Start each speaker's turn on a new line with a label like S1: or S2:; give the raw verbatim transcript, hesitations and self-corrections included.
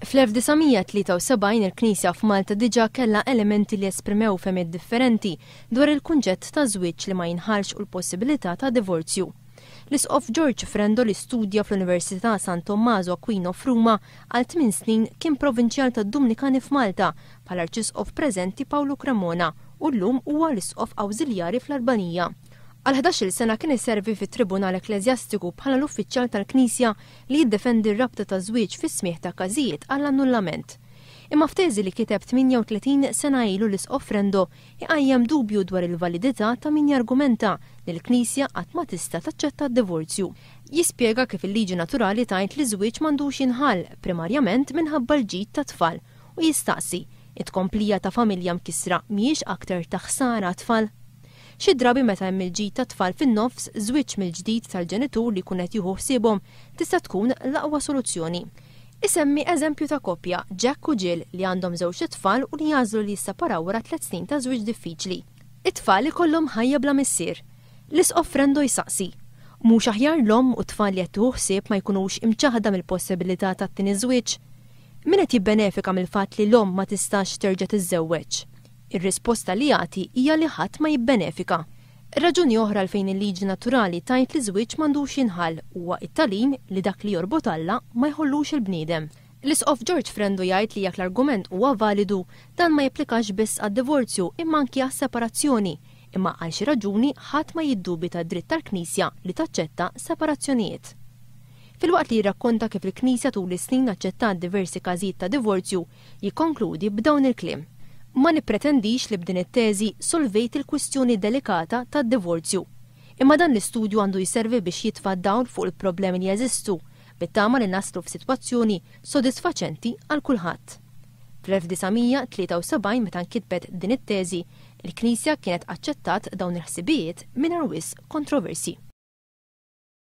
S1: Fl-elf disa' mija tlieta u sebgħin il-Knisja f'Malta diġà kellha elementi li esprimew fehmiet differenti dwar il-kunċett ta' żwieġ li ma jinħalx u l-possibilità ta' divorzju. L-Isqof George Frendo, li studja fl-Università San Tommaso Aquino f'Ruma għal tmien snin, kien provinċjal tad-Dumnikani f'Malta bħala Arċisqof preżenti Paolo Cremona u llum huwa l-Isqof Awżiljari fl-Albanija. Għal ħdax-il sena kien iservi fit-Tribunal Ekkleżjastiku bħala l-uffiċjal tal-Knisja li jiddefendi r-rabta ta' żwieġ fis-smigħ ta' każijiet għall-annullament. Imma f'teżi li kiteb tmienja u tletin sena ilu, l-Isqof Frendo iqajjem dubju dwar il-validità ta' min jargumenta li l-Knisja qatt ma tista' taċċetta d-divorzju. Jispjega kif il-liġi naturali tgħid li żwieġ m'għandux jinħall primarjament minħabba l-ġid ta' tfal u jistaqsi it-tkomplija ta' familja mkissra mhijiex aktar ta' ħsara tfal. Xi drabi meta hemm il-ġid ta' tfal fin-nofs, żwieġ mill-ġdid tal-ġenitur li jkun qed jieħu ħsiebhom tista' tkun l-aqwa soluzzjoni. Isemmi eżempju ta' koppja, Jack u Jill, li għandhom żewġ tfal u li jagħżlu li jisseparaw wara tliet snin ta' żwieġ diffiċli. It-tfal ikollhom ħajja bla missier. L-Isqof Frendo jsaqsi, mhux aħjar l-omm u t-tfal li qed tieħu ħsieb ma jkunux imċaħda mill-possibilità tat-tieni żwieġ? Min qed jibbenefika mill-fatt li l-omm ma tistax terġa' tiżżewweġ? Ir-risposta li jagħti hija li ħadd ma jibbenefika. Raġuni oħra għalfejn il-liġi naturali tgħid li żwieġ m'għandux jinħall huwa t-tagħlim li dak li jorbot Alla ma jħollux il-bniedem. L-Isqof George Frendo jgħid li jekk l-argument huwa validu, dan ma japplikax biss għad-divorzju imma anki għas-separazzjoni, imma għal xi raġuni ħadd ma jiddubita d-dritt tal-Knisja li taċċetta separazzjonijiet. Filwaqt li jirrakkonta kif il-Knisja tul is-snin aċċettat diversi każijiet ta' divorzju, jikkonkludi b'dawn il-kliem. Ma nippretendix li b'din it-teżi solvejt il-kwistjoni delikata tad-divorzju. Imma dan l-istudju għandu jservi biex jitfa' dawl fuq il-problemi li jeżistu, bit-tama li naslu f'sitwazzjoni sodisfaċenti għal kulħadd. Fl-elf disa' mija tlieta u sebgħin meta nkitbet din it-teżi, il-Knisja kienet aċċettat dawn il-ħsibijiet mingħajr wisq kontroversi.